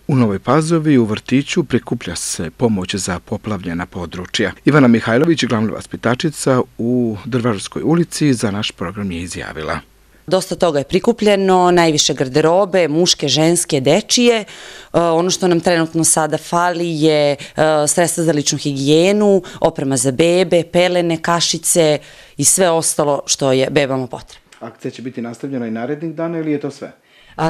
U Novoj Pazovi u vrtiću prikuplja se pomoć za poplavljena područja. Ivana Mihajlović, glavna vaspitačica u Drvarskoj ulici, za naš program je izjavila. Dosta toga je prikupljeno, najviše garderobe, muške, ženske, dečije. Ono što nam trenutno sada fali je sredstva za ličnu higijenu, oprema za bebe, pelene, kašice i sve ostalo što je bebama potrebno. Akcija će biti nastavljena i narednih dana ili je to sve?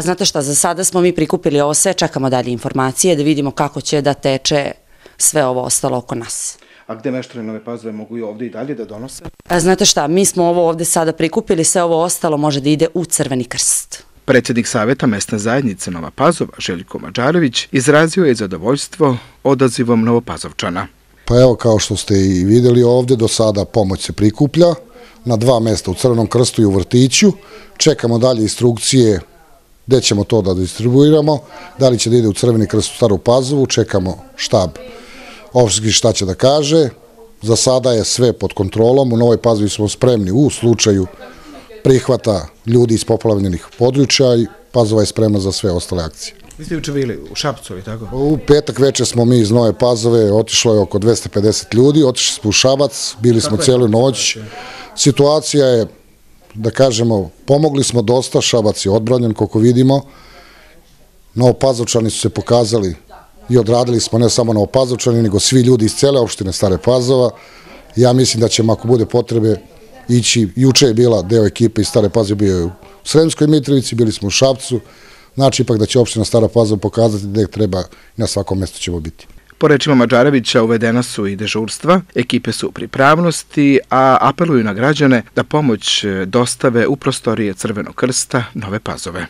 Znate šta, za sada smo mi prikupili ovo sve, čekamo dalje informacije da vidimo kako će da teče sve ovo ostalo oko nas. A gde meštani Nove Pazove mogu i ovdje i dalje da donose? Znate šta, mi smo ovo ovdje sada prikupili, sve ovo ostalo može da ide u Crveni krst. Predsjednik Saveta mesne zajednice Nova Pazova, Željko Mađarević, izrazio je zadovoljstvo odazivom Novopazovčana. Pa evo, kao što ste i vidjeli ovdje, do sada pomoć se prikuplja na 2 mjesta, u Crvenom krstu i u vrtiću. Čekamo dalje instrukcije gdje ćemo to da distribuiramo, da li će da ide u Crveni krst u Staru Pazovu, čekamo štab opštinski šta će da kaže. Za sada je sve pod kontrolom, u Novoj Pazovi smo spremni u slučaju prihvata ljudi iz poplavljenih područja i Pazova je spremna za sve ostale akcije. Vi ste juče bili u Šapcu, ali tako? U petak večer smo mi iz Nove Pazove, otišlo je oko 250 ljudi, otišli smo u Šabac, bili smo cijelu noć. Situacija je, da kažemo, pomogli smo dosta, Šabac je odbranjen, koliko vidimo. Novopazovčani su se pokazali i odradili smo ne samo Novopazovčani, nego svi ljudi iz cele opštine Stare Pazova. Ja mislim da ćemo, ako bude potrebe, ići. Juče je bila deo ekipe iz Stare Pazove, bio je u Sremskoj Mitrovici, bili smo u Šapcu. Znači, ipak da će opština Stara Pazova pokazati gde treba i na svakom mjestu ćemo biti. Po rečima Mađarevića uvedena su i dežurstva, ekipe su u pripravnosti, a apeluju na građane da pomoć dostave u prostorije Crvenog krsta Nove Pazove.